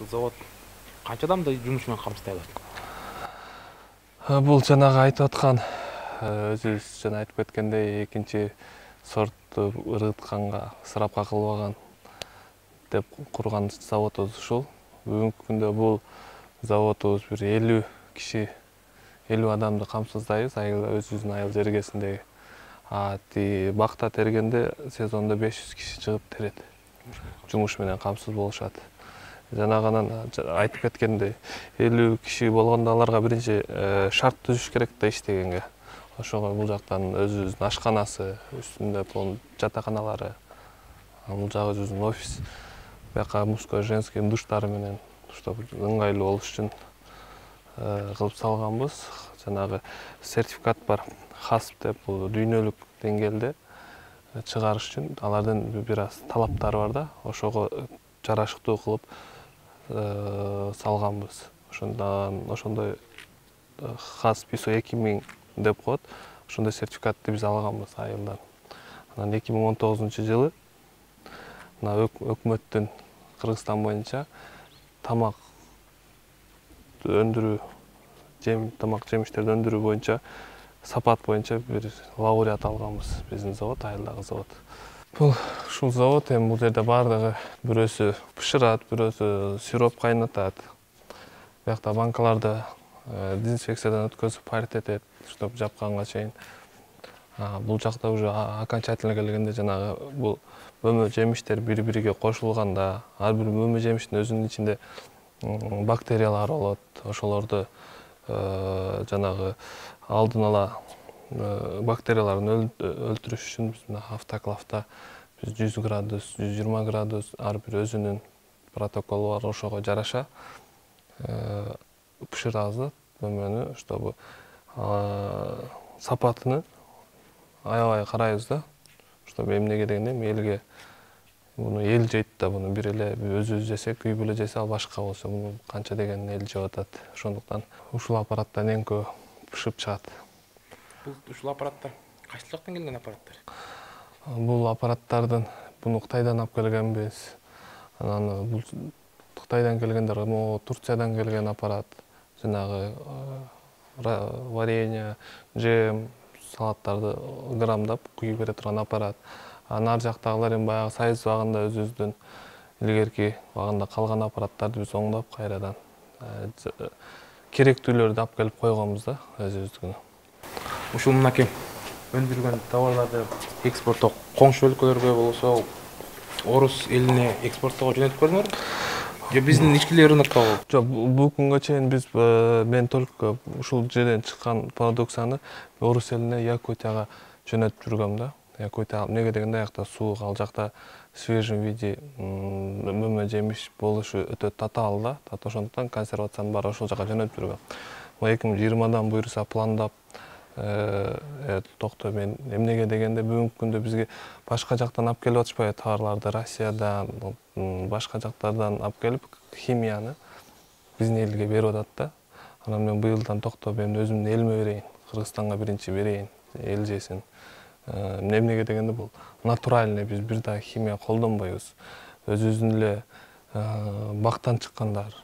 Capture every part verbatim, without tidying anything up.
Ушул завод канча адамды жумуш менен камсыздай алат? Бул жанагы айтып аткан өзүбүз жана айтып кеткендей экинчи сортту ырытканга, ысырапка кылбаган деп курган заводубуз ушул. Бүгүнкү күндө бул заводубуз бир элүү киши, элүү адамды камсыздайбыз, өзүбүздүн айыл жергесиндеги. А ти бакта тергенде сезондо беш жүз киши чыгып терет. Жумуш менен камсыз болушат. Жанагынан айтып кеткендей элүү киши болгондо аларга биринчи шарт түзүш керек да иштегенге. Ошого бул жактан өзүбүздүн ашканасы, үстүндө жатаканалары, бул жагы өзүбүздүн офис. Бияка мужской, женский душтары менен, чтобы ыңгайлуу болуш үчүн кылып салганбыз. Жанагы сертификат бар, хасп деп, бул дүйнөлүк деңгээлде чыгарыш үчүн алардын бир аз талаптары бар да, ошого жарашыктуу кылып салганбыз. Ошондон ошондой хасп ай эс о эки миң деп коет. Ошондой сертификатты биз алганбыз айылдан. Анан эки миң он тогузунчу жылы мына өкмөттүн Кыргызстан боюнча тамак өндүрүү, жем тамак жемиштерди өндүрүү боюнча сапат боюнча бир лауреат алганбыз биздин завод, айылдагы завод. Бул ушул завод эми бул жерде баардыгы бирөөсү бышырат, бирөөсү сироп кайнатат. Биякта банкаларды дезинфекциядан өткөзүп парить этет, чтобы жапканга чейин. Бул жакта уже окончательно келгенде жанагы бул мөмө жемиштер бири-бириге кошулганда, ар бир мөмө жемиштин өзүнүн ичинде бактериялар болот. Ошолорду жанагы алдын ала бактерияларын өлтүрүш үчүн биз автоклавда жүз градус, жүз жыйырма градус ар бир өзүнүн протоколу бар, ошого жараша бышырабыз мөмөнү, чтобы сапатыны аябай карайбыз да, чтобы эмнеге дегенде элге муну эл жейт да, муну бир эле өзүбүз жесек, үй бүлө жесе ал башка болсо, муну канча деген эл жеп атат. Ошондуктан ушул аппараттан эң көп бышып чыгат. Бул ушул аппараттар кайсы жактан келген аппараттар? Бул аппараттардын буну Кытайдан алып келгенбиз. Анан бул Кытайдан келгендер, могу Турциядан келген аппарат. Жанагы варенье, жем, салаттарды грамдап куюп бере турган аппарат. Анан ар жактагылар эми баягы Союз убагында өзүбүздүн илгерки убагында калган аппараттарды биз оңдоп кайрадан керектүүлөрдү алып келип койгонбуз да өзүбүздүкүнө. Ушул мынакей өндүргөн товарларды экспорттоо коңшу өлкөлөргө болсо орус элине экспорттоого жөнөтүп көрдүңөрбү? Же биздин ички рынокко? Жок, бул күнгө чейин биз мен только ушул жерден чыккан продукцияны орус элине, Якутияга жөнөтүп жүргөм да. Якутия эмнеге дегенде аякта суук, ал жакта в свежем виде мөмө жемиш болушу өтө татаал да. Ошондуктан консервациянын баары ошол жака жөнөтүп жүргөм. эки миң жыйырмадан буюрса пландап токто мен эмнеге дегенде бүгүнкү күндө бизге башка жактан алып келип атышпайбы товарларды, Россиядан, башка жактардан алып келип химияны биздин элге берип атат да. Анан мен быйылдан токто мен өзүмдүн элиме берейин, Кыргызстанга биринчи берейин, эл жесин. Эмнеге дегенде бул натуральный, биз бир да химия колдонбойбуз. Өзүбүздүн эле бактан чыккандар.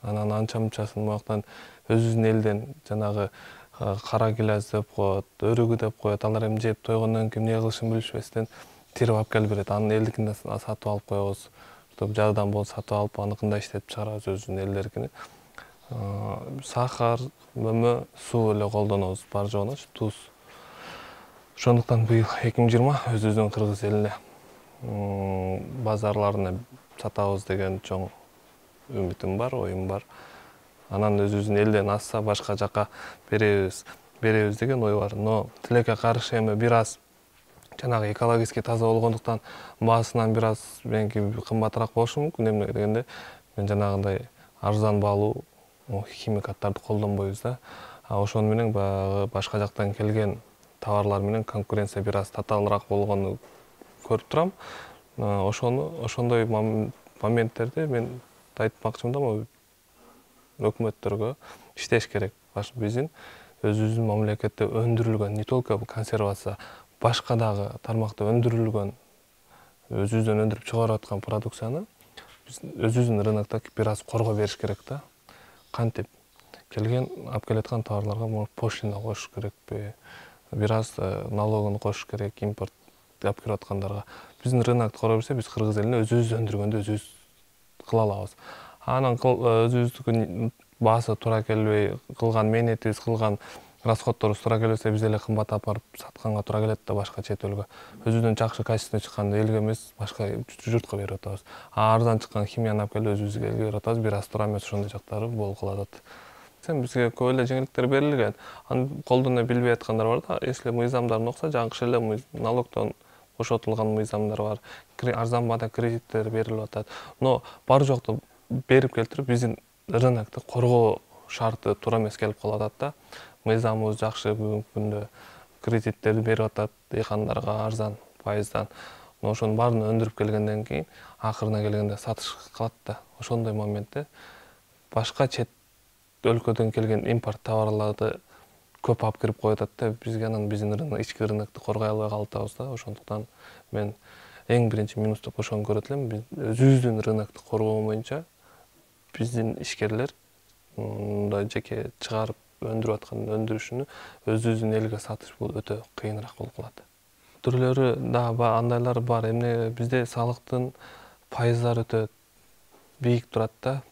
Анан анча-мынчасын бактан өзүбүздүн элден жанагы кара гилаз деп коет, өрүгү деп коет. Алар эми жеп тойгондон кийин эмне кылышын билишпестен тирип алып келип берет. Анын элдикин сатып алып коебуз. Чтобы жардам болсо сатып алып, аныкын да иштетип чыгарабыз өзүбүздүн элдерикини. Сахар, мөмө, суу эле колдонобуз бар жогуна, туз. Ошондуктан быйыл эки миң жыйырма өзүбүздүн кыргыз элине базарларына сатабыз деген чоң үмүтүм бар, оюм бар. Анан өзүбүздүн элден азса башка жака беребиз, беребиз деген ой бар. Но тилекке каршы эми бир аз жанагы экологически таза болгондуктан баасынан бир аз меники кымбатыраак болушу мүмкүн. Эмнеге дегенде мен жанагындай арзан баалуу химикаттарды колдонбойбуз да. Ошону менен баягы башка жактан келген товарлар менен конкуренция бир аз татаалыраак болгонун көрүп турам. Ошону ошондой моменттерде мен айтмакчымын да, өкмөттөргө иштеш керек. Биздин өзүбүздүн мамлекетте өндүрүлгөн, не только консервация, башка дагы тармакта өндүрүлгөн, өзүбүздөн өндүрүп чыгарып аткан продукцияны биз өзүбүздүн рынокто бир аз коргоо бериш керек да. Кантип келген алып келаткан товарларга пошлина коюш керекпи, бир аз налогун кошуш керек импорт алып келип аткандарга. Биздин рынокто коргоо берсе, биз кыргыз элине өзүбүз өндүргөндү өзүбүз кыла алабыз. Анан өзүбүздүн баасы туура келбей, кылган мээнетибиз, кылган расходторубуз туура келбесе, биз эле кымбат апарып сатканга туура келет да башка чет элге. Өзүбүздөн жакшы качественно чыкканды элге эмес, башка журтка берип атабыз. А арзан чыккан химияны алып келип өзүбүзгө элге берип атабыз, бир аз туура эмес ошондой жактары болуп калып атат. Бизге көп эле жеңилдиктер берилген. Аны колдоно билбей аткандар бар да. Если мыйзамдарын окуса, жакшы эле налогдон бошотулган мыйзамдар бар. Арзан баада кредиттер берилип атат. Но бар жокто берип келтирип, биздин рынокто коргоо шарты туура эмес келип калып атат да. Мыйзамыбыз жакшы, бүгүнкү күндө кредиттерди берип атат дыйкандарга арзан пайыздан. Но ошонун баарын өндүрүп келгенден кийин акырына келгенде сатыш калат да. Ошондой моментте башка чет өлкөдөн келген импорт товарларды көп алып кирип коюп атат да. Бизге анан биздин рынок, ички рынокто коргой албай калып атабыз да. Ошондуктан мен эң биринчи минус деп ошону көрөт элем. Биз өзүбүздүн рынокто коргоо боюнча биздин ишкерлер мындай жеке чыгарып өндүрүп аткан өндүрүшүнү өзүбүздүн элге сатыш бул өтө кыйыныраак болуп калат. Түрлөрү да андайлар бар. Эмне бизде салыктын пайыздары өтө бийик турат да.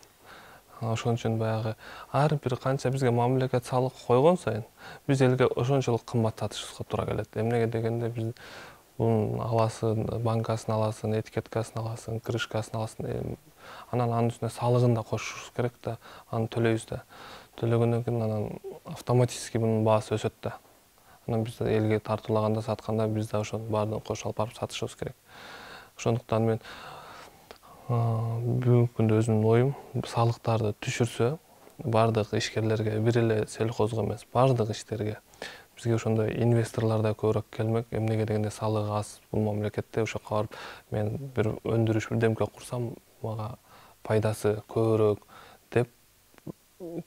Ошон үчүн баягы ар бир канча бизге мамлекет салык койгон сайын биз элге ошончолук кымбат сатышыбызга туура келет. Эмнеге дегенде биз бунун аласын, банкасын аласын, этикеткасын аласын, крышкасын аласын, анан анын үстүнө салыгын да кошушубуз керек да, аны төлөйбүз да. Төлөгөндөн кийин анан автоматически мунун баасы өсөт да. Анан биз элге тартуулаганда, сатканда биз да ошонун баарын кошуп алып барып сатышыбыз керек. Ошондуктан мен бүгүнкү күндө өзүмдүн оюм салыктарды түшүрсө, бардык ишкерлерге, бир эле сельхозго эмес, бардык иштерге бизге ошондой инвесторлор да көбүрөөк келмек. Эмнеге дегенде салыгы аз бул мамлекетте. Ошоко барып мен бир өндүрүш бирдемке курсам, мага пайдасы көбүрөөк деп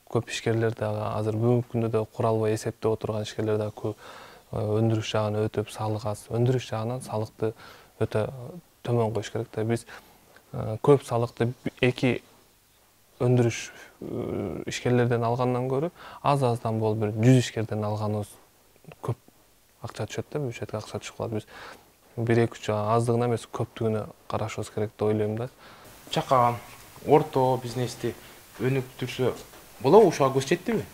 көп ишкерлер дагы азыр бүгүнкү күндө да кура албай эсептеп отурган ишкерлер да көп. Өндүрүш жагын өтүп, салык аз. Өндүрүш жагынан салыкты өтө төмөн коюш керек да. Биз көп салыкты эки өндүрүш ишкерлерден алгандан көрө аз-аздан болуп бир жүз ишкерден алганыбыз көп акча түшөт да, бюджетке акча түшүп калат. Биз бир эки үч аздыгына эмес, көптүгүнө карашыбыз керек деп ойлойм да. Чакан, орто бизнести өнүктүрсө болобу, ушуга көз жеттиби?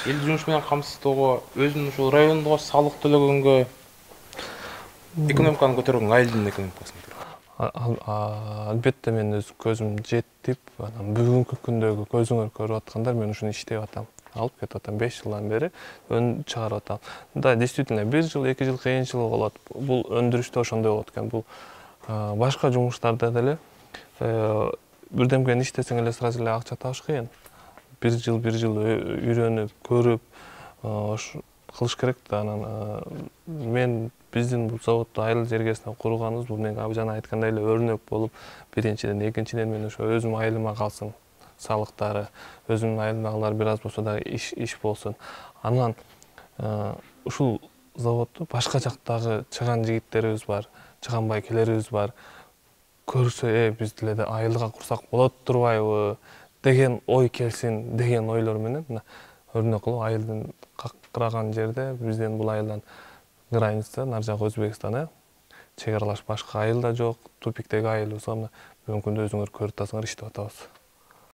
Элди жумуш менен камсыздоого, өзүнүн ушул райондо салык төлөгөнгө, экономиканы көтөргөнгө, айылдын экономикасын көтөргөнгө. Албетте мен өз көзүм жетип, анан бүгүнкү күндөгү көзүңөр көрүп аткандар, мен ушуну иштеп атам. Алып кетип атам, беш жылдан бери өн чыгарып атам. Да, действительно, бир жыл, эки жыл кыйынчылык болот. Бул өндүрүштө ошондой болот экен. Бул башка жумуштарда деле бирдемкени иштесең эле сразу эле акча табыш кыйын. Бир жыл, бир жыл үйрөнүп, көрүп, кылыш керек да. Анан мен биздин бул заводду айыл жергесинде курганыбыз, бул мен жана айткандай эле өрнөк болуп, биринчиден, экинчиден мен ошо өзүм айылыма калсын салыктары, өзүмдүн айылымдагылар бир аз болсо да иш иш болсун. Анан ушул заводду башка жактагы чыган жигиттерибиз бар, чыган байкелерибиз бар. Көрсө, э, биз деле айылга курсак болот турбайбы деген ой келсин деген ойлор менен мына өрнөк кылып айылдын какыраган жерде бизден бул айылдан граница, нар жак Өзбекстан, э, чек аралаш башка айыл да жок, тупиктеги айылыбызга мына бүгүнкү күндө өзүңөр көрүп атасыңар, иштеп атабыз.